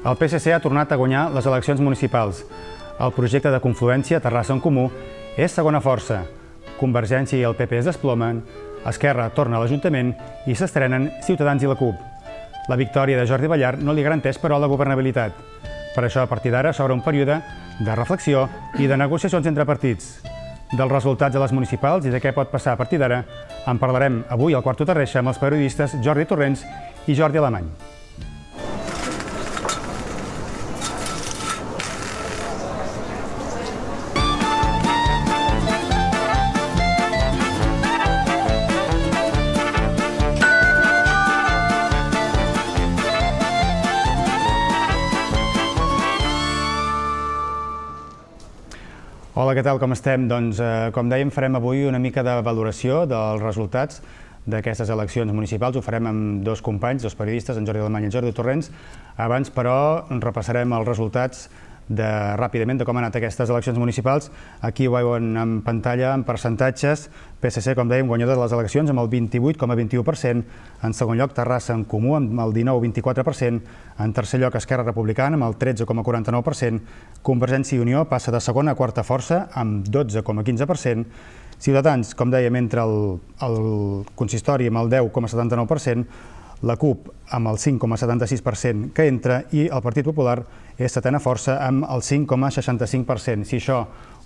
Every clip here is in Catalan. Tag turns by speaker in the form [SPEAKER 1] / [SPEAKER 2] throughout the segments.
[SPEAKER 1] El PSC ha tornat a guanyar les eleccions municipals. El projecte de confluència Terrassa en Comú és segona força. Convergència i el PP es desplomen, Esquerra torna a l'Ajuntament i s'estrenen Ciutadans i la CUP. La victòria de Jordi Ballart no li garanteix, però, la governabilitat. Per això, a partir d'ara, s'obre un període de reflexió i de negociacions entre partits. Dels resultats de les municipals i de què pot passar a partir d'ara en parlarem avui al Quarto Terreixa amb els periodistes Jordi Torrents i Jordi Alemany. Hola, què tal? Com estem? Doncs, com dèiem, farem avui una mica de valoració dels resultats d'aquestes eleccions municipals. Ho farem amb dos companys, dos periodistes, en Jordi Alemany i en Jordi Torrents. Abans, però, repassarem els resultats ràpidament de com han anat aquestes eleccions municipals. Aquí ho veuen en pantalla, en percentatges. PSC, com dèiem, guanyador de les eleccions amb el 28,21%. En segon lloc, Terrassa en Comú amb el 19,24%. En tercer lloc, Esquerra Republicana amb el 13,49%. Convergència i Unió passa de segona a quarta força amb 12,15%. Ciutadans, com dèiem, entra el consistori amb el 10,79%. La CUP amb el 5,76% que entra i el Partit Popular és setena força amb el 5,65%. Si això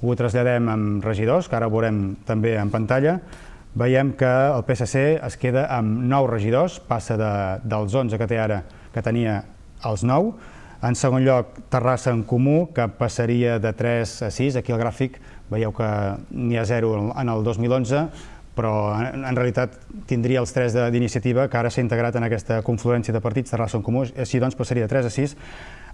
[SPEAKER 1] ho traslladem amb regidors, que ara ho veurem també en pantalla, veiem que el PSC es queda amb 9 regidors, passa dels 11 que té ara, que tenia els 9. En segon lloc, Terrassa en Comú, que passaria de 3 a 6. Aquí al gràfic veieu que n'hi ha 0 en el 2011, però en realitat tindria els 3 d'iniciativa, que ara s'ha integrat en aquesta confluència de partits, Terrassa en Comú, així doncs passaria de 3 a 6.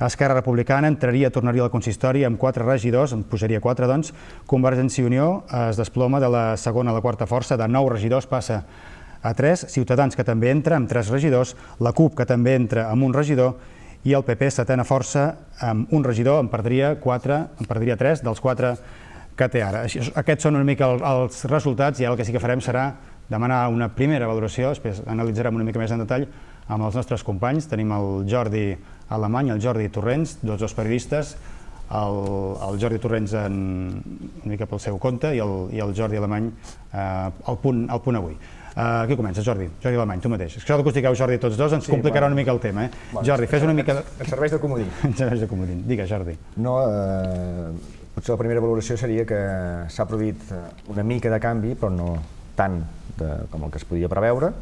[SPEAKER 1] Esquerra Republicana tornaria al consistori amb 4 regidors, en pujaria 4, doncs. Convergència i Unió es desploma de la segona a la quarta força, de 9 regidors passa a 3. Ciutadans, que també entra amb 3 regidors, la CUP, que també entra amb un regidor, i el PP, setena força, amb un regidor, en perdria 3 dels 4 que té ara. Aquests són una mica els resultats i el que sí que farem serà demanar una primera valoració, després analitzarem una mica més en detall amb els nostres companys. Tenim el Jordi Alemany i el Jordi Torrents, dos periodistes, el Jordi Torrents una mica pel seu compte i el Jordi Alemany al punt avui. Qui comença, Jordi? Jordi Alemany, tu mateix. Això que us digueu, Jordi, tots dos, ens complicarà una mica el tema. Jordi, fes una mica...
[SPEAKER 2] Et serveix de comodí.
[SPEAKER 1] Et serveix de comodí. Digues, Jordi.
[SPEAKER 2] No, potser la primera valoració seria que s'ha produït una mica de canvi, però no tant com el que es podia preveure,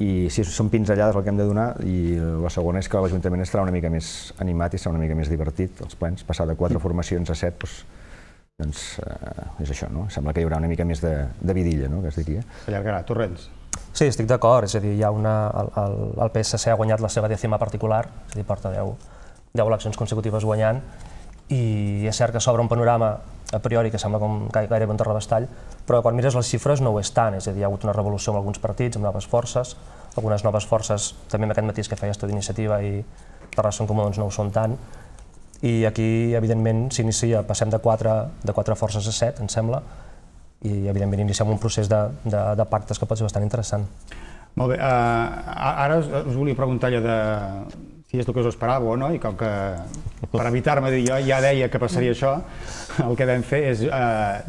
[SPEAKER 2] i sí, són pinzellades el que hem de donar, i la segona és que l'Ajuntament estarà una mica més animat i serà una mica més divertit, els plens. Passar de 4 formacions a 7, doncs és això, no? Sembla que hi haurà una mica més de vidilla, no?, que es diria.
[SPEAKER 1] S'allargarà. Torrents.
[SPEAKER 3] Sí, estic d'acord, és a dir, el PSC ha guanyat la seva 10ª particular, és a dir, porta 10 eleccions consecutives guanyant, i és cert que s'obre un panorama a priori que sembla com gairebé un terrabastall, però quan mires les xifres no ho és tant, és a dir, hi ha hagut una revolució amb alguns partits, amb noves forces, algunes noves forces, també amb aquest matís que feies tu d'Iniciativa i Terrassa en Comú, doncs no ho són tant, i aquí, evidentment, s'inicia, passem de 4 forces a 7, em sembla, i evidentment iniciem un procés de pactes que pot ser bastant interessant.
[SPEAKER 1] Molt bé, ara us volia preguntar allò de si és el que us esperàveu o no, i com que per evitar-me dir jo ja deia que passaria això, el que vam fer és,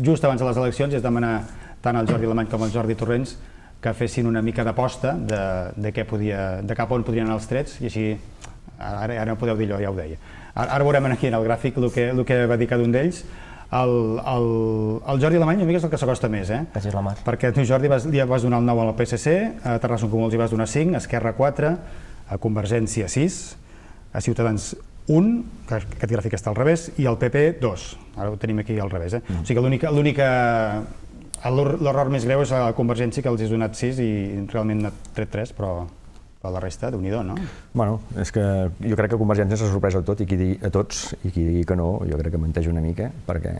[SPEAKER 1] just abans de les eleccions, és demanar tant al Jordi Alemany com al Jordi Torrents que fessin una mica d'aposta de cap on podrien anar els trets, i així, ara no podeu dir allò, ja ho deia. Ara veurem aquí en el gràfic el que va dir cada un d'ells. El Jordi Alemany una mica és el que s'acosta més,
[SPEAKER 3] Quasi la mar.
[SPEAKER 1] perquè tu, Jordi, li vas donar el 9 al PSC, a Terrassa en Comú els hi vas donar 5, a Esquerra 4, a Convergència 6, a Ciutadans 1, que aquest gràfic està al revés, i al PP 2. Ara ho tenim aquí al revés. O sigui que l'error més greu és a Convergència, que els has donat 6 i realment n'ha tret 3, però la resta, Déu-n'hi-do, no?
[SPEAKER 2] Bueno, és que jo crec que Convergència s'ha sorprès a tots, i qui digui que no, jo crec que menteix una mica, perquè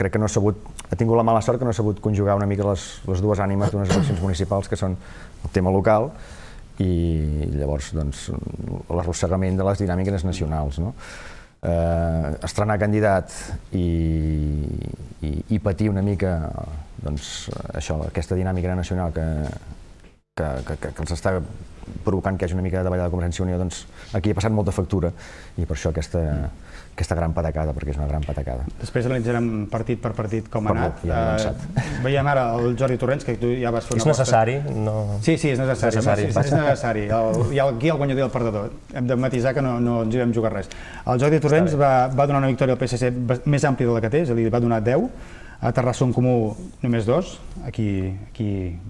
[SPEAKER 2] crec que ha tingut la mala sort que no ha sabut conjugar una mica les dues ànimes d'unes eleccions municipals, que són el tema local i llavors l'arrossegament de les dinàmiques nacionals. Estrenar candidat i patir una mica aquesta dinàmica nacional que els està provocant que hi hagi una mica de davallada de Convergència i Unió, doncs aquí ha passat molta factura i per això aquesta gran patacada, perquè és una gran patacada.
[SPEAKER 1] Després analitzarem partit per partit com ha anat.
[SPEAKER 2] Veiem
[SPEAKER 1] ara el Jordi Torrents, que tu ja vas fer una
[SPEAKER 3] aposta. És necessari?
[SPEAKER 1] Sí, és necessari. És necessari. Hi ha aquí el guanyador i el perdedor. Hem de matisar que no ens hi vam jugar res. El Jordi Torrents va donar una victòria al PSC més àmplia de la que té, és a dir, va donar 10, a Terrassa en Comú només 2, aquí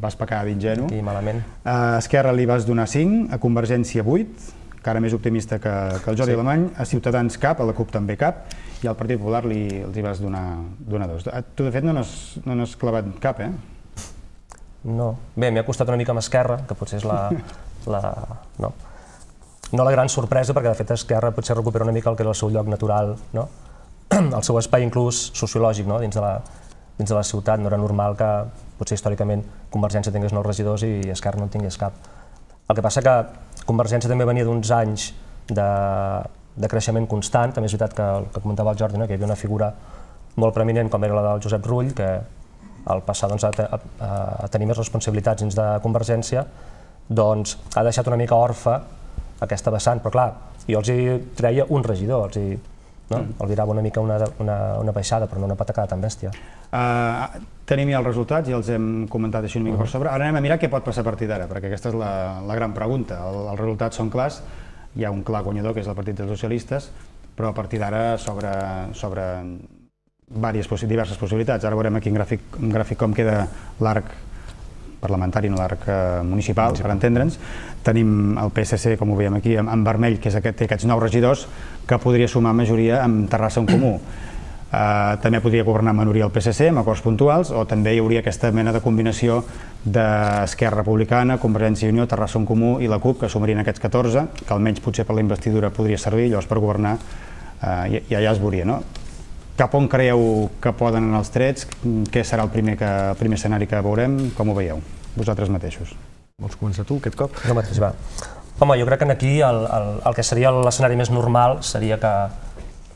[SPEAKER 1] vas pecar d'ingenu.
[SPEAKER 3] Aquí malament.
[SPEAKER 1] A Esquerra li vas donar 5, a Convergència 8, encara més optimista que el Jordi Alemany, a Ciutadans cap, a la CUP també cap, i al Partit Popular els hi vas donar 2. Tu, de fet, no n'has clavat cap, eh?
[SPEAKER 3] No. Bé, m'ha costat una mica amb Esquerra, que potser és no la gran sorpresa, perquè de fet Esquerra potser recupera una mica el que era el seu lloc natural, no? El seu espai inclús sociològic, no? Dins de la ciutat. No era normal que potser històricament Convergència tingués 9 regidors i Esquerra no en tingués cap. El que passa que Convergència també venia d'uns anys de creixement constant. També és veritat que el que comentava el Jordi, que hi havia una figura molt preeminent com era la del Josep Rull, que al passar a tenir més responsabilitats dins de Convergència doncs ha deixat una mica orfe aquesta vessant, però clar, jo els hi treia un regidor, el virava una mica una baixada, però no una patacada tan bèstia.
[SPEAKER 1] Tenim ja els resultats, ja els hem comentat així una mica per sobre. Ara anem a mirar què pot passar a partir d'ara, perquè aquesta és la gran pregunta. Els resultats són clars, hi ha un clar guanyador, que és el Partit dels Socialistes, però a partir d'ara s'obre diverses possibilitats. Ara veurem aquí en gràfic com queda l'arc parlamentari, no l'arc municipal, per entendre'ns. Tenim el PSC, com ho veiem aquí, en vermell, que té aquests 9 regidors, que podria sumar majoria amb Terrassa en Comú. També podria governar majoria el PSC, amb acords puntuals, o també hi hauria aquesta mena de combinació d'Esquerra Republicana, Convergència i Unió, Terrassa en Comú i la CUP, que sumarien aquests 14, que almenys potser per la investidura podria servir, llavors per governar ja es veuria, no? Cap on creieu que poden anar els trets? Què serà el primer escenari que veurem? Com ho veieu, vosaltres mateixos?
[SPEAKER 2] Vols començar tu aquest cop?
[SPEAKER 3] Jo mateix, va. Home, jo crec que aquí el que seria l'escenari més normal seria que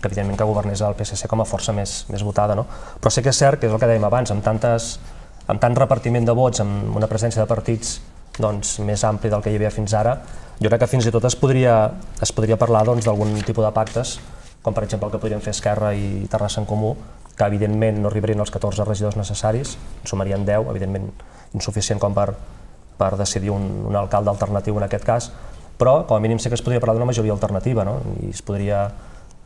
[SPEAKER 3] evidentment que governés el PSC com a força més votada, no? Però sí que és cert, que és el que dèiem abans, amb tant repartiment de vots, amb una presència de partits més ampli del que hi havia fins ara, jo crec que fins i tot es podria parlar d'algun tipus de pactes, com per exemple el que podrien fer Esquerra i Terrassa en Comú, que evidentment no arribarien als 14 regidors necessaris, en sumarien 10, evidentment insuficient com per decidir un alcalde alternatiu en aquest cas, però com a mínim sí que es podria parlar d'una majoria alternativa, no? I es podria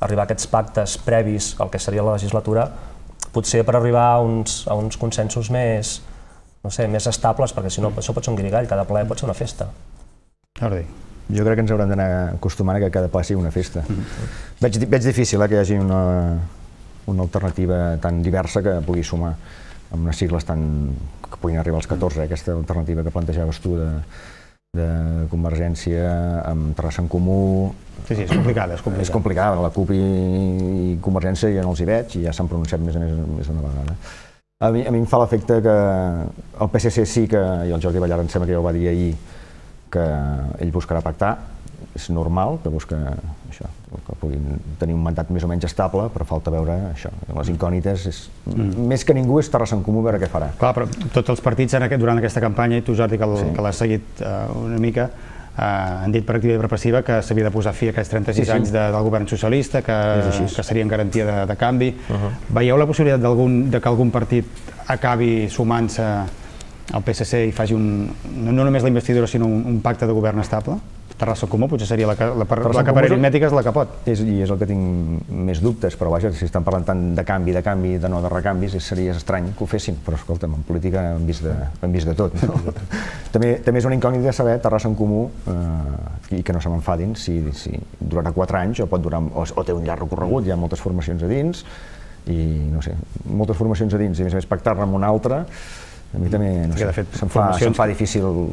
[SPEAKER 3] arribar a aquests pactes previs al que seria la legislatura, potser per arribar a uns consensos més estables, perquè si no això pot ser un guirigall, cada ple pot ser una festa.
[SPEAKER 1] Jordi.
[SPEAKER 2] Jo crec que ens haurem d'anar acostumant a que cada ple sigui una festa. Veig difícil que hi hagi una alternativa tan diversa que pugui sumar amb unes sigles que puguin arribar als 14, aquesta alternativa que plantejaves tu de Convergència amb Terrassa en Comú.
[SPEAKER 1] Sí, és complicada.
[SPEAKER 2] És complicada, la CUP i Convergència ja no els hi veig i ja s'han pronunciat més d'una vegada. A mi em fa l'efecte que el PSC sí que, i el Jordi Ballart em sembla que ja ho va dir ahir, que ell buscarà pactar, és normal que busca això, que puguin tenir un mandat més o menys estable, però falta veure això, les incògnites, més que ningú és Terrassa en Comú, veure què farà.
[SPEAKER 1] Clar, però tots els partits durant aquesta campanya, i tu Jordi que l'has seguit una mica, han dit per activa i per passiva que s'havia de posar fi a aquests 36 anys del govern socialista, que serien garantia de canvi. Veieu la possibilitat que algun partit acabi sumant-se al PSC i faci no només la investidura sinó un pacte de govern estable? Terrassa en Comú potser seria la que per aritmètica és la que pot.
[SPEAKER 2] I és el que tinc més dubtes, però vaja, si estan parlant tant de canvi, de no de recanvis, seria estrany que ho fessin, però escolta'm, en política hem vist de tot. També és una incògnita saber Terrassa en Comú, i que no se m'enfadin, si durarà 4 anys o pot durar, o té un llarg recorregut, hi ha moltes formacions a dins, i no sé, moltes formacions a dins, i a més pactar-ne amb una altra, a mi també, no sé, se'm fa difícil.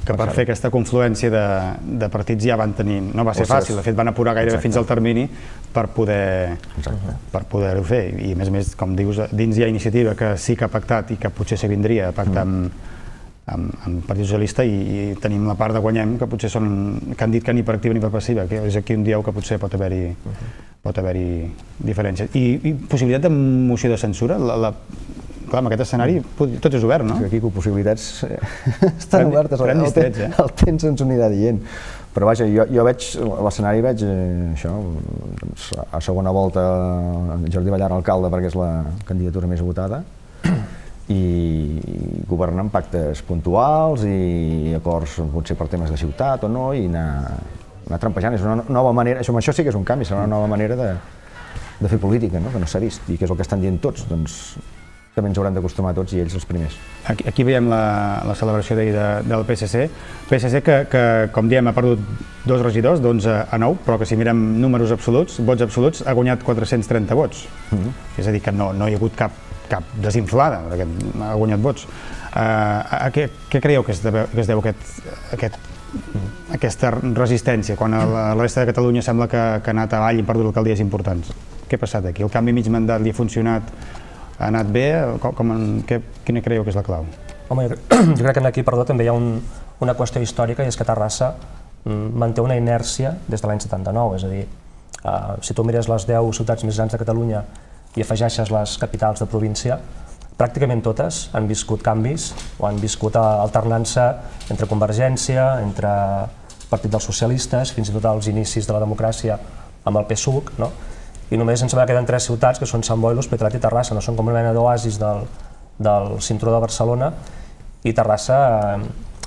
[SPEAKER 1] Que per fer aquesta confluència de partits ja van tenir, no va ser fàcil, de fet van apurar gairebé fins al termini per poder-ho fer, i a més, com dius, dins hi ha iniciativa que sí que ha pactat i que potser se vindria a pactar amb Partit Socialista, i tenim la part de Guanyem, que potser que han dit que ni per activa ni per passiva, que és aquí on dieu que potser pot haver-hi diferències. I possibilitat de moció de censura? clar, amb aquest escenari tot és obert, no?
[SPEAKER 2] Aquí possibilitats estan obertes, el temps ens ho anirà dient. Però vaja, jo veig l'escenari, veig això, a segona volta Jordi Ballart alcalde perquè és la candidatura més votada, i governar amb pactes puntuals i acords potser per temes de ciutat o no, i anar trampejant. És una nova manera, això sí que és un canvi, serà una nova manera de fer política, que no s'ha vist i que és el que estan dient tots, doncs també ens hauran d'acostumar tots i ells els primers.
[SPEAKER 1] Aquí veiem la celebració d'ahir del PSC. PSC que, com diem, ha perdut 2 regidors, d'11 a 9, però que si mirem números absoluts, vots absoluts, ha guanyat 430 vots. És a dir, que no hi ha hagut cap desinflada, perquè ha guanyat vots. A què creieu que es deu aquesta resistència, quan a la resta de Catalunya sembla que ha anat avall i ha perdut alcaldies importants? Què ha passat aquí? El canvi mig mandat li ha funcionat? Ha anat bé? Quina creieu que és la clau?
[SPEAKER 3] Home, jo crec que aquí, perdó, també hi ha una qüestió històrica, i és que Terrassa manté una inèrcia des de l'any 79, és a dir, si tu mires les 10 ciutats més grans de Catalunya i afegeixes les capitals de província, pràcticament totes han viscut canvis o han viscut alternança entre Convergència, entre Partit dels Socialistes, fins i tot als inicis de la democràcia amb el PSUC, no? I només ens queden 3 ciutats, que són Sant Boi, l'Hospitalet i Terrassa, no són com una mena d'oasis del cinturó de Barcelona, i Terrassa,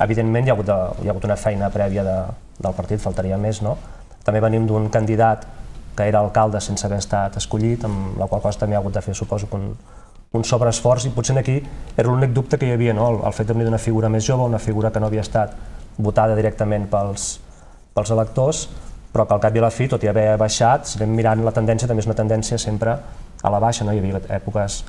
[SPEAKER 3] evidentment, hi ha hagut una feina prèvia del partit, faltaria més, no? També venim d'un candidat que era alcalde sense haver estat escollit, amb la qual cosa també ha hagut de fer, suposo, un sobreesforç, i potser aquí era l'únic dubte que hi havia, no? El fet de venir d'una figura més jove, una figura que no havia estat votada directament pels electors, però que al cap i a la fi, tot i haver baixat, si anem mirant la tendència, també és una tendència sempre a la baixa, no? Hi havia èpoques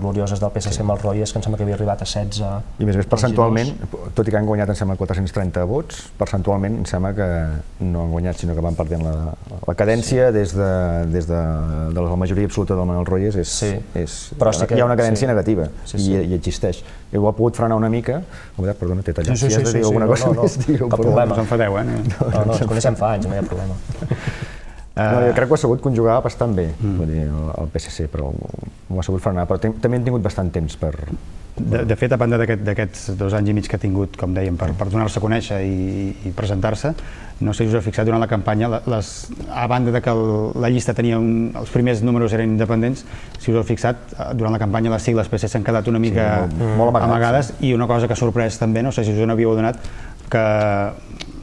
[SPEAKER 3] glorioses del PSC amb els Royes, que em sembla que havia arribat a 16.
[SPEAKER 2] I més percentualment, tot i que han guanyat, em sembla, 430 vots, percentualment em sembla que no han guanyat, sinó que van perdent la cadència des de la majoria absoluta del Manuel Royes. Hi ha una cadència negativa i existeix. Ho ha pogut frenar una mica. Perdona, t'he tallat. Si has de dir alguna cosa més,
[SPEAKER 3] digueu. Cap problema.
[SPEAKER 1] Us enfadeu,
[SPEAKER 3] No, ens coneixem fa anys, no hi ha problema.
[SPEAKER 2] Jo crec que ho ha sabut conjugar bastant bé, el PSC, però ho ha sabut frenar, però també han tingut bastant temps per...
[SPEAKER 1] De fet, a banda d'aquests 2 anys i mig que ha tingut, com dèiem, per donar-se a conèixer i presentar-se, no sé si us heu fixat durant la campanya, a banda de que la llista tenia els primers números eren independents, si us heu fixat, durant la campanya les sigles PSC s'han quedat una mica amagades, i una cosa que ha sorprès també, no sé si us n'havíeu adonat, que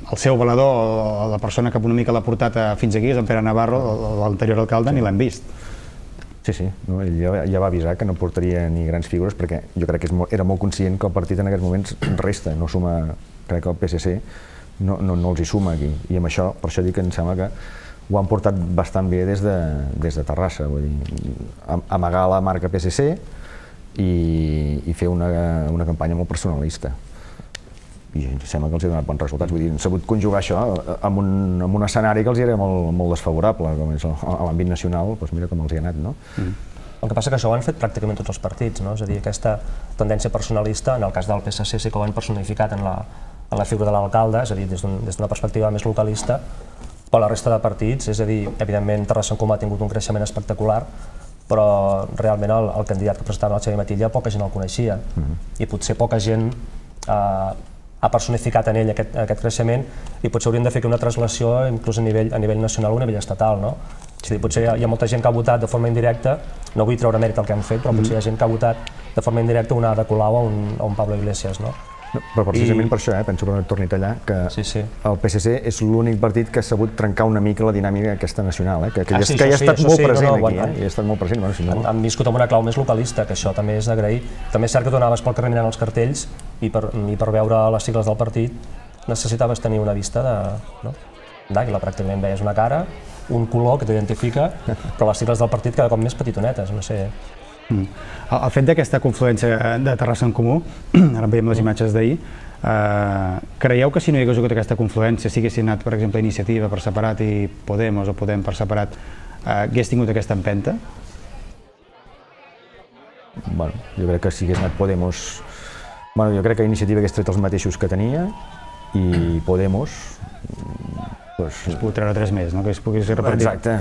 [SPEAKER 1] el seu valedor, o la persona que una mica l'ha portat fins aquí, és en Pere Navarro, l'anterior alcalde, ni l'hem vist.
[SPEAKER 2] Sí, ell ja va avisar que no portaria ni grans figures, perquè jo crec que era molt conscient que el partit en aquests moments resta, no suma, crec que el PSC no els hi suma aquí, i amb això, per això dic que em sembla que ho han portat bastant bé des de Terrassa, vull dir, amagar la marca PSC i fer una campanya molt personalista. I sembla que els ha donat bons resultats. Vull dir, han sabut conjugar això amb un escenari que els era molt desfavorable, com és l'àmbit nacional, doncs mira com els hi ha anat, no?
[SPEAKER 3] El que passa que això ho han fet pràcticament tots els partits, no? És a dir, aquesta tendència personalista, en el cas del PSC sí que ho han personificat en la figura de l'alcalde, és a dir, des d'una perspectiva més localista, però la resta de partits, és a dir, evidentment Terrassa en Comú ha tingut un creixement espectacular, però realment el candidat que presentava el Xavier Matilla poca gent el coneixia, i potser poca gent ha personificat en ell aquest creixement, i potser hauríem de fer una translació inclús a nivell nacional o a nivell estatal, no? És a dir, potser hi ha molta gent que ha votat de forma indirecta, no vull treure mèrit el que han fet, però potser hi ha gent que ha votat de forma indirecta una Ada Colau o un Pablo Iglesias, no?
[SPEAKER 2] Però precisament per això, penso que no et torni a tallar, que el PSC és l'únic partit que ha sabut trencar una mica la dinàmica aquesta nacional, que hi ha estat molt present aquí, hi ha estat molt present.
[SPEAKER 3] Han viscut amb una clau més localista, que això també és d'agrair. També és cert que tu anaves pel carrer mirant els cartells i per veure les sigles del partit necessitaves tenir una vista d'àguila, pràcticament veies una cara, un color que t'identifica, però les sigles del partit cada cop més petitonetes, no sé.
[SPEAKER 1] El fet d'aquesta confluència de Terrassa en Comú, ara veiem les imatges d'ahir, creieu que si no hi hagués hagut aquesta confluència, si haguessin anat, per exemple, Iniciativa per separat i Podemos o Podem per separat, hagués tingut aquesta empenta?
[SPEAKER 2] Bueno, jo crec que si hagués anat Podemos... Bueno, jo crec que Iniciativa hagués tret els mateixos que tenia i Podemos...
[SPEAKER 1] Es pot treure 3 més, no? Que es pogués repartir.
[SPEAKER 2] Exacte.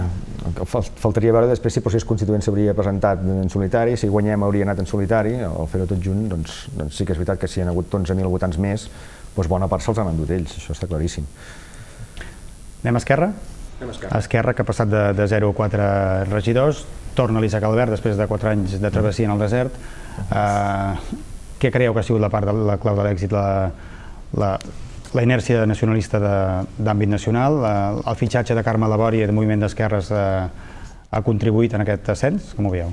[SPEAKER 2] Faltaria veure després si el procés constituent s'hauria presentat en solitari, si guanyem hauria anat en solitari, o fer-ho tot junt, doncs sí que és veritat que si hi ha hagut 11.000 votants més, doncs bona part se'ls han endut ells, això està claríssim.
[SPEAKER 1] Anem a Esquerra? Esquerra, que ha passat de 0 a 4 regidors, torna l'Isaac Albert després de 4 anys de travessia en el desert. Què creieu que ha sigut la part de la clau de l'èxit? La inèrcia nacionalista d'àmbit nacional, el fitxatge de Carme Labori del moviment d'esquerres ha contribuït en aquest ascens? Com ho veieu?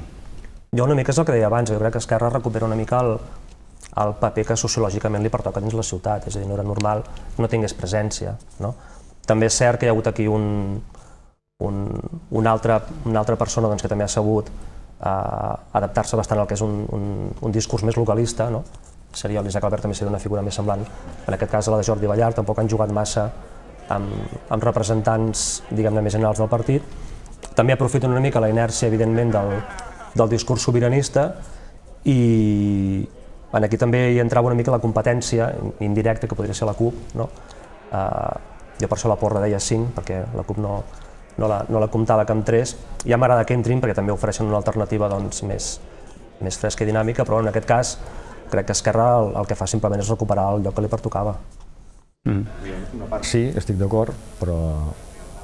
[SPEAKER 3] Jo una mica és el que deia abans, jo crec que Esquerra recupera una mica el paper que sociològicament li pertoca dins la ciutat, és a dir, no era normal que no tingués presència. També és cert que hi ha hagut aquí una altra persona que també ha sabut adaptar-se bastant al que és un discurs més localista, seria l'Isaac Albert, també seria una figura més semblant, en aquest cas a la de Jordi Ballart, tampoc han jugat massa amb representants, diguem-ne, més generals del partit. També aprofiten una mica la inèrcia, evidentment, del discurs sobiranista i aquí també hi entrava una mica la competència indirecta que podria ser la CUP. Jo per això la porra deia 5, perquè la CUP no la comptava que amb 3. Ja m'agrada que entrin perquè també ofereixen una alternativa més fresca i dinàmica, però en aquest cas crec que Esquerra el que fa simplement és recuperar el lloc que li pertocava.
[SPEAKER 2] Una part sí, estic d'acord, però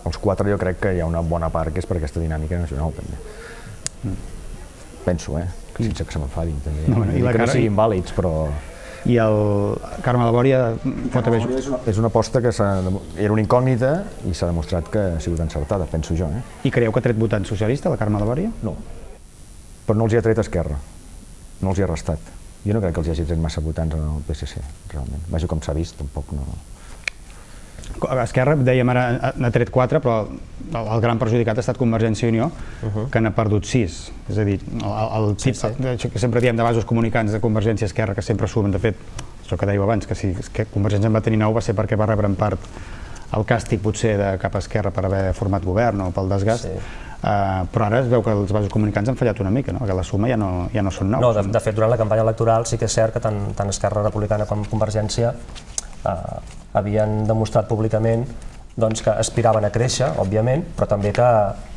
[SPEAKER 2] els 4 jo crec que hi ha una bona part que és per aquesta dinàmica nacional també. Penso, sense que se m'enfadin també. Que no siguin vàlids, però...
[SPEAKER 1] I el Carme Labori pot haver...
[SPEAKER 2] És una aposta que era una incògnita i s'ha demostrat que ha sigut encertada, penso jo.
[SPEAKER 1] I creieu que ha tret votant socialista, la Carme Labori?
[SPEAKER 2] No, però no els hi ha tret Esquerra, no els hi ha restat. Jo no crec que els hi hagi tret massa votants al PSC, realment. Vaja, com s'ha vist, tampoc no...
[SPEAKER 1] Esquerra, dèiem ara, n'ha tret 4, però el gran perjudicat ha estat Convergència i Unió, que n'ha perdut 6. És a dir, el tip que sempre diem de vasos comunicants de Convergència i Esquerra, que sempre sumen, de fet, això que dèieu abans, que si Convergència en va tenir 9 va ser perquè va rebre en part el càstig potser de cap a Esquerra per haver format govern o pel desgast, però ara es veu que els vasos comunicants han fallat una mica, que la suma ja no són 9.
[SPEAKER 3] No, de fet, durant la campanya electoral sí que és cert que tant Esquerra Republicana com Convergència havien demostrat públicament que aspiraven a créixer, òbviament, però també que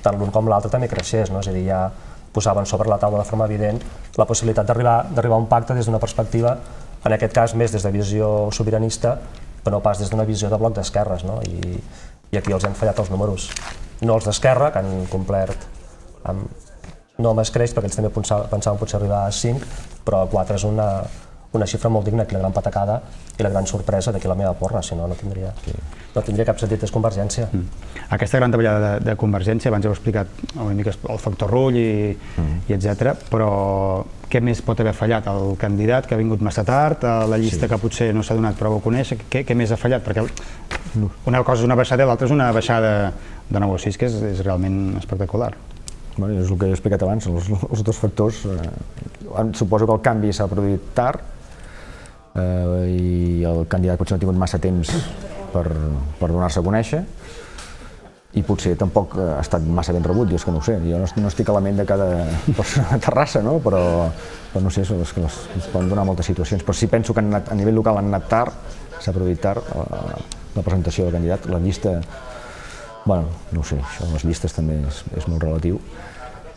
[SPEAKER 3] tant l'un com l'altre també creixés, és a dir, ja posaven sobre la taula de forma evident la possibilitat d'arribar a un pacte des d'una perspectiva, en aquest cas més des de visió sobiranista, però no pas des d'una visió de bloc d'esquerres, i aquí els han fallat els números. No els d'Esquerra, que han complert no amb escreix, perquè ells també pensaven potser arribar a 5, però 4 és una xifra molt digna, aquí la gran patacada i la gran sorpresa d'aquí la meva porra, si no, no tindria cap sentit, és Convergència.
[SPEAKER 1] Aquesta gran davallada de Convergència, abans heu explicat una mica el factor Rull i etc, però què més pot haver fallat? El candidat que ha vingut massa tard, la llista que potser no s'ha donat prou a conèixer, què més ha fallat? Perquè una cosa és una baixada i l'altra és una baixada de 9 o 6, que és realment espectacular.
[SPEAKER 2] És el que he explicat abans, els dos factors. Suposo que el canvi s'ha produït tard i el candidat potser no ha tingut massa temps per donar-se a conèixer i potser tampoc ha estat massa ben rebut, jo és que no ho sé, jo no estic a la ment de cada persona a Terrassa, però no sé, és que es poden donar moltes situacions, però sí penso que a nivell local han anat tard, s'ha produït tard la presentació del candidat, la llista, bueno, no ho sé, això de les llistes també és molt relatiu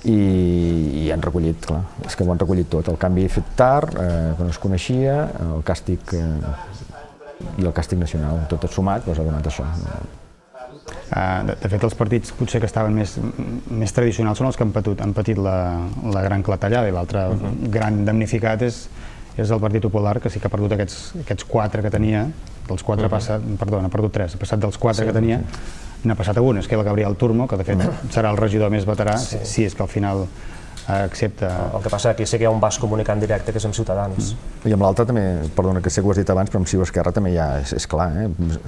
[SPEAKER 2] i han recollit, clar, és que ho han recollit tot, el canvi fet tard, que no es coneixia, el càstig i el càstig nacional, tot sumat, ha donat això.
[SPEAKER 1] De fet, els partits potser que estaven més tradicionals són els que han patit la gran clatellada i l'altre gran damnificat és el Partit Popular, que sí que ha perdut aquests 4 que tenia, dels 4 ha perdut 3, ha passat dels 4 que tenia, n'ha passat a un, és que el Gabriel Turmo, que de fet serà el regidor més veterà, si és que al final accepta...
[SPEAKER 3] El que passa aquí sí que hi ha un vas comunicant directe que és amb Ciutadans.
[SPEAKER 2] I amb l'altre també, perdona que sé que ho has dit abans, però amb Ciu Esquerra també ja és clar,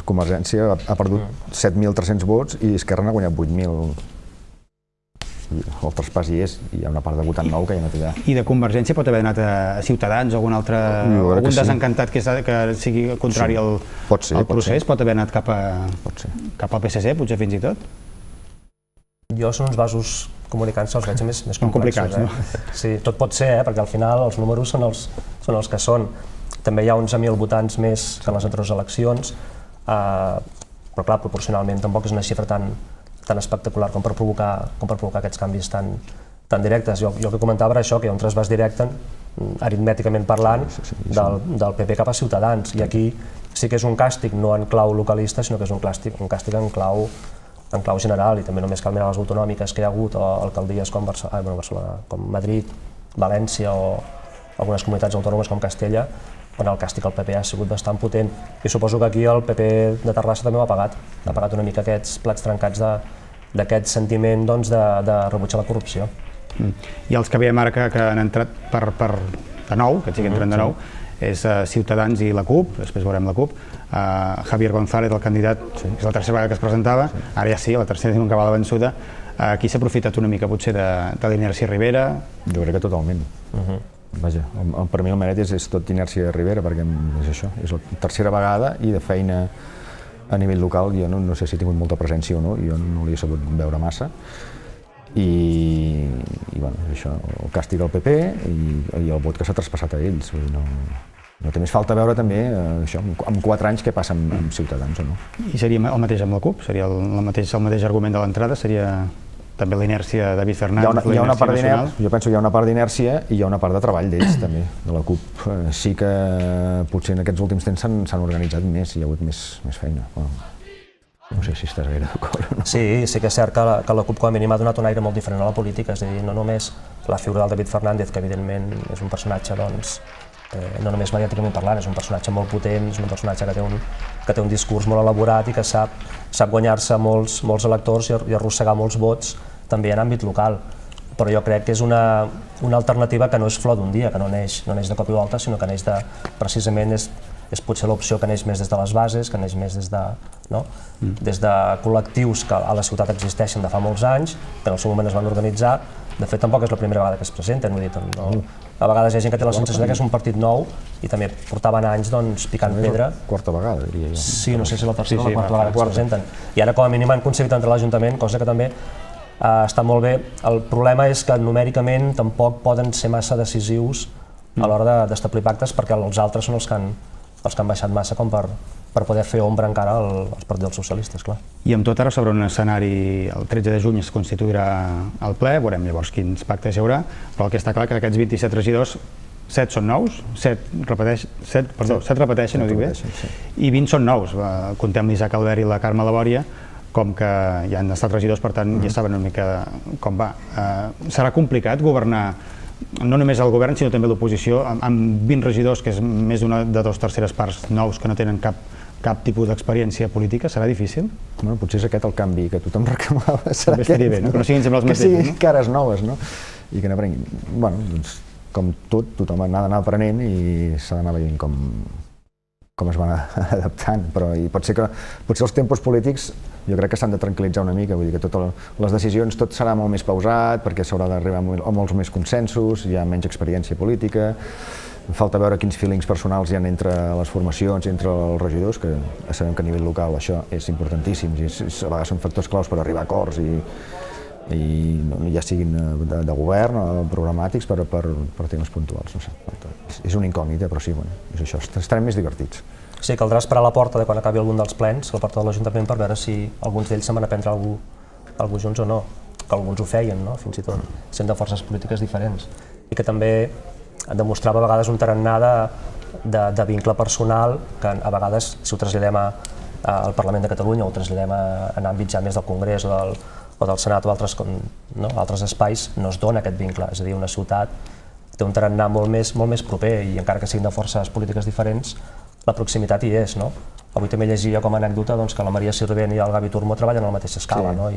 [SPEAKER 2] Convergència ha perdut 7.300 vots i Esquerra n'ha guanyat 8.000. El traspàs hi és, i hi ha una part de votant nou que ja no té.
[SPEAKER 1] I de Convergència pot haver anat a Ciutadans o algun desencantat que sigui contrari al procés? Pot haver anat cap al PSC, potser fins i tot?
[SPEAKER 3] Jo són uns vasos comunicants, els veig més complexos. Sí, tot pot ser, perquè al final els números són els que són. També hi ha 11.000 votants més que en les altres eleccions, però clar, proporcionalment tampoc és una xifra tan tan espectacular com per provocar aquests canvis tan directes. Jo el que comentava era això, que hi ha un traspàs directe, aritmèticament parlant, del PP cap a Ciutadans, i aquí sí que és un càstig no en clau localista, sinó que és un càstig en clau general, i també només cal mirar les autonòmiques que hi ha hagut, o alcaldies com Barcelona, com Madrid, València o algunes comunitats autònomes com Castella, on el càstig al PP ha sigut bastant potent. I suposo que aquí el PP de Terrassa també ho ha pagat una mica aquests plats trencats d'aquest sentiment de rebutjar la corrupció.
[SPEAKER 1] I els que veiem ara que han entrat de nou, que sí que entren de nou, és Ciutadans i la CUP, després veurem la CUP, Javier González, el candidat, és la tercera vegada que es presentava, ara ja sí, la tercera diuen que va a la vençuda. Aquí s'ha aprofitat una mica potser de l'inèrcia Rivera?
[SPEAKER 2] Jo crec que totalment. Vaja, per mi el mèrit és tot d'inèrcia Rivera, perquè és això, és la tercera vegada i de feina a nivell local jo no sé si he tingut molta presència o no, jo no l'he sabut veure massa. I bueno, això, el càstig al PP i el vot que s'ha traspassat a ells. No té més falta veure també això, en 4 anys què passa amb Ciutadans o no.
[SPEAKER 1] I seria el mateix amb la CUP? Seria el mateix argument de l'entrada? Seria també l'inèrcia de David Fernández, l'inèrcia nacional?
[SPEAKER 2] Jo penso que hi ha una part d'inèrcia i hi ha una part de treball d'ells també, de la CUP. Sí que potser en aquests últims temps s'han organitzat més, hi ha hagut més feina. No sé si estàs gaire d'acord o no.
[SPEAKER 3] Sí que és cert que la CUP com a mínim ha donat un aire molt diferent a la política, és a dir, no només la figura del David Fernández, que evidentment és un personatge, doncs, no només mediàticament parlant, és un personatge molt potent, és un personatge que té un discurs molt elaborat i que sap guanyar-se molts electors i arrossegar molts vots també en àmbit local. Però jo crec que és una alternativa que no és flor d'un dia, que no neix de cop i volta, sinó que neix precisament és potser l'opció que neix més des de les bases, que neix més des de col·lectius que a la ciutat existeixen de fa molts anys, que en el seu moment es van organitzar. De fet, tampoc és la primera vegada que es presenten, vull dir, a vegades hi ha gent que té la sensació que és un partit nou i també portaven anys picant pedra.
[SPEAKER 2] Quarta vegada, diria jo.
[SPEAKER 3] Sí, no sé si la tercera o la quarta vegada que es presenten. I ara com a mínim han aconseguit entrar a l'Ajuntament, cosa que també està molt bé. El problema és que numèricament tampoc poden ser massa decisius a l'hora d'establir pactes, perquè els altres són els que han baixat massa com per poder fer ombra encara als partits dels socialistes, clar.
[SPEAKER 1] I amb tot ara sobre un escenari, el 13 de juny es constituirà el ple, veurem llavors quins pactes hi haurà, però el que està clar que d'aquests 27 regidors, 7 són nous, 7 repeteixen, ho dic bé, i 20 són nous. Contem l'Isaac Albert i la Carme Labòria, com que ja han estat regidors, per tant ja saben una mica com va. Serà complicat governar no només el govern, sinó també l'oposició, amb 20 regidors, que és més de 2/3 parts nous que no tenen cap tipus d'experiència política, serà difícil?
[SPEAKER 2] Potser és aquest el canvi que tothom reclamava. Serà aquest,
[SPEAKER 1] que no siguin sempre els mateixos.
[SPEAKER 2] Que siguin cares noves, no? I que n'aprenguin. Bueno, doncs, com tot, tothom ha d'anar aprenent i s'ha d'anar veient com es van adaptant, però potser els tempos polítics jo crec que s'han de tranquil·litzar una mica, vull dir que totes les decisions, tot serà molt més pausat, perquè s'haurà d'arribar a molts més consensos, hi ha menys experiència política, falta veure quins feelings personals hi ha entre les formacions i entre els regidors, que sabem que a nivell local això és importantíssim, i a vegades són factors claus per arribar a acords i ja siguin de govern o programàtics per temes puntuals, no sé. És una incògnita, però sí, és això, estarem més divertits.
[SPEAKER 3] Sí, caldrà esperar a la porta de quan acabi algun dels plens, a la porta de l'Ajuntament, per veure si alguns d'ells se'n van a prendre alguna junts o no, que alguns ho feien, fins i tot, sent de forces polítiques diferents. I que també demostrava a vegades un tarannà de vincle personal, que a vegades, si ho traslladem al Parlament de Catalunya o ho traslladem en àmbits ja més del Congrés o del Senat o altres espais, no es dona aquest vincle. És a dir, una ciutat té un tarannà molt més proper i encara que siguin de forces polítiques diferents, la proximitat hi és, no? Avui també llegia com a anècdota que la Maria Sirvent i el Gavi Turmo treballen a la mateixa escala, no?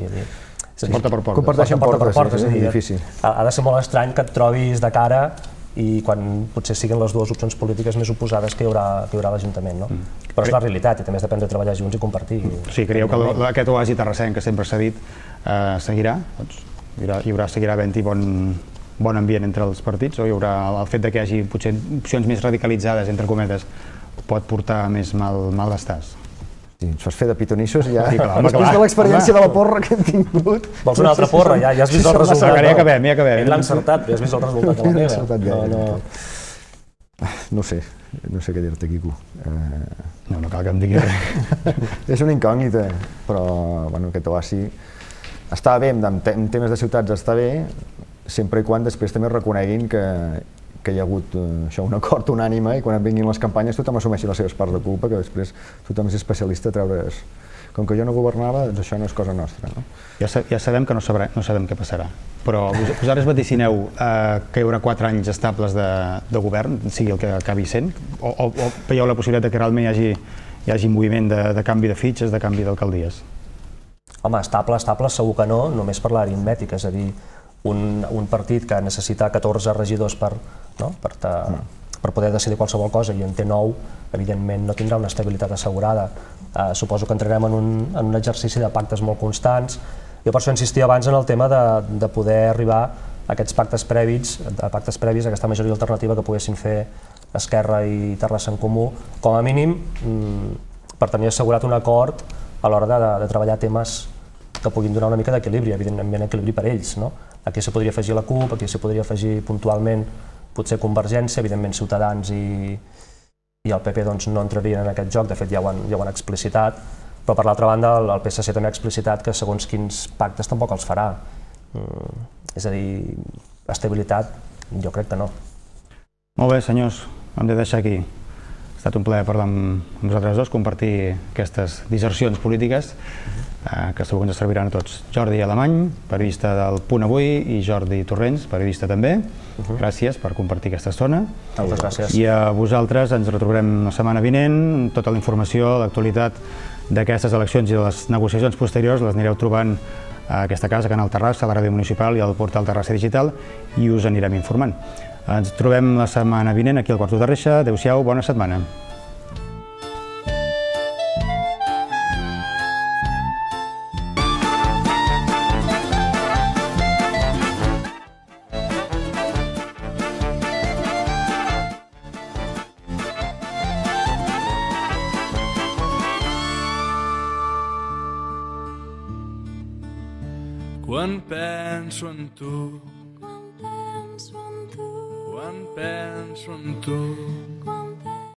[SPEAKER 1] Porta per porta.
[SPEAKER 2] Comparteixen portes, és difícil.
[SPEAKER 3] Ha de ser molt estrany que et trobis de cara i quan potser siguin les dues opcions polítiques més oposades que hi haurà a l'Ajuntament, no? Però és la realitat i també has d'aprendre a treballar junts i compartir.
[SPEAKER 1] Sí, creieu que aquest oasi terrassenc que sempre s'ha dit seguirà? Seguirà havent-hi bon ambient entre els partits o hi haurà el fet que hi hagi potser opcions més radicalitzades, entre cometes, pot portar més malestars?
[SPEAKER 2] Sí, ens fas fer de pitonissos ja, després de l'experiència de la porra que hem tingut.
[SPEAKER 3] Vols una altra porra? Ja has vist el resultat.
[SPEAKER 1] Ja acabem.
[SPEAKER 3] L'ha encertat, ja has vist el resultat de la meva.
[SPEAKER 2] No sé què dir-te, Quico.
[SPEAKER 1] No cal que em diguis res.
[SPEAKER 2] És una incògnita, però aquest oasi està bé, en temes de ciutats està bé, sempre i quan després també reconeguin que hi ha hagut un acord unànime i quan vinguin les campanyes tothom assumeixi les seves parts de culpa, que després tothom és especialista a treure's. Com que jo no governava, doncs això no és cosa nostra. No?
[SPEAKER 1] Ja sabem que no sabem què passarà, però vosaltres vaticineu que hi haurà 4 anys estables de govern, sigui el que acabi sent, o veieu la possibilitat que realment hi hagi moviment de canvi de fitxes, de canvi d'alcaldies?
[SPEAKER 3] Home, estable segur que no, només per l'aritmètica, és a dir, un partit que necessita 14 regidors per poder decidir qualsevol cosa i en té 9, evidentment no tindrà una estabilitat assegurada. Suposo que entrarem en un exercici de pactes molt constants. Jo per això insistia abans en el tema de poder arribar a aquests pactes previs, a aquesta majoria alternativa que poguessin fer Esquerra i Terrassa en Comú, com a mínim per tenir assegurat un acord a l'hora de treballar temes que puguin donar una mica d'equilibri, evidentment equilibri per ells. Aquí s'hi podria afegir la CUP, aquí s'hi podria afegir puntualment potser Convergència, evidentment Ciutadans i el PP no entrarien en aquest joc, de fet ja ho han explicitat, però per l'altra banda el PSC també ha explicitat que segons quins pactes tampoc els farà. És a dir, estabilitat jo crec que no.
[SPEAKER 1] Molt bé, senyors, hem de deixar aquí. Ha estat un plaer parlar amb vosaltres dos, compartir aquestes dissercions polítiques que segur que ens serviran a tots. Jordi Alemany, periodista del Punt Avui, i Jordi Torrents, periodista també. Gràcies per compartir aquesta estona.
[SPEAKER 3] Moltes gràcies.
[SPEAKER 1] I a vosaltres ens retrobarem la setmana vinent. Tota la informació, l'actualitat d'aquestes eleccions i de les negociacions posteriors les anireu trobant a aquesta casa, Canal Terrassa, a la ràdio municipal i al portal Terrassa Digital, i us anirem informant. Ens trobem la setmana vinent aquí al Quarto de Reixa. Adéu-siau, bona setmana.
[SPEAKER 4] Quan penso en tu, quan penso en tu,